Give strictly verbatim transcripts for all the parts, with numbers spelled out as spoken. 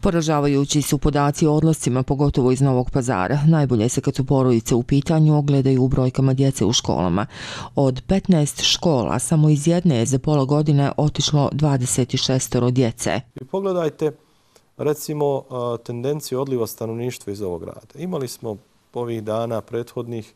Poražavajući su podaci o odlascima, pogotovo iz Novog Pazara. Najbolje se kad su porodice u pitanju ogledaju u brojkama djece u školama. Od petnaest škola, samo iz jedne je za pola godine otišlo dvadeset šest djece. Pogledajte, recimo, tendenciju odliva stanovništva iz ovog grada. Imali smo ovih dana prethodnih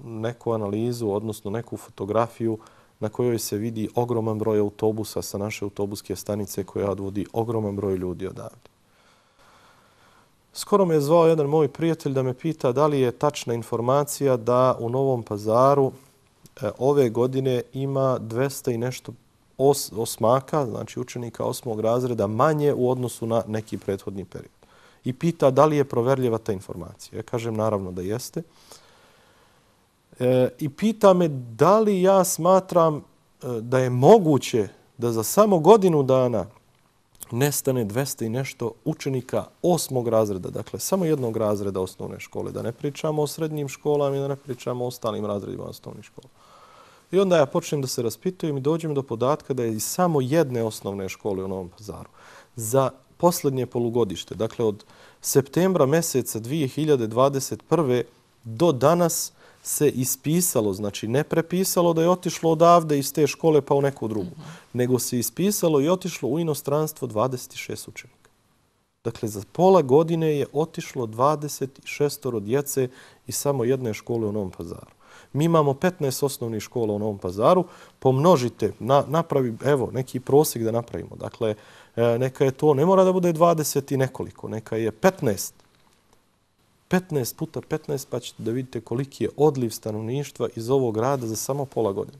neku analizu, odnosno neku fotografiju na kojoj se vidi ogroman broj autobusa sa naše autobuske stanice koja odvodi ogroman broj ljudi odavde. Skoro me je zvao jedan moj prijatelj da me pita da li je tačna informacija da u Novom Pazaru ove godine ima dvesta i nešto os, osmaka, znači učenika osmog razreda, manje u odnosu na neki prethodni period. I pita da li je proverljiva ta informacija. Ja kažem naravno da jeste. E, I pita me da li ja smatram e, da je moguće da za samo godinu dana nestane dvesta i nešto učenika osmog razreda, dakle samo jednog razreda osnovne škole, da ne pričamo o srednjim školama i da ne pričamo o ostalim razredima osnovnih škola. I onda ja počnem da se raspitujem i dođem do podatka da je iz samo jedne osnovne škole u Novom Pazaru za posljednje polugodište, dakle od septembra meseca dvije hiljade dvadeset prve do danas se ispisalo, znači ne prepisalo da je otišlo odavde iz te škole pa u neku drugu, mm-hmm. nego se ispisalo i otišlo u inostranstvo dvadeset šest učenika. Dakle, za pola godine je otišlo dvadeset šest djece iz samo jedne škole u Novom Pazaru. Mi imamo petnaest osnovnih škola u Novom Pazaru, pomnožite, na, napravi, evo, neki prosjek da napravimo. Dakle, neka je to, ne mora da bude dvadeset i nekoliko, neka je petnaest. petnaest puta petnaest, pa ćete da vidite koliki je odliv stanovništva iz ovog grada za samo pola godine.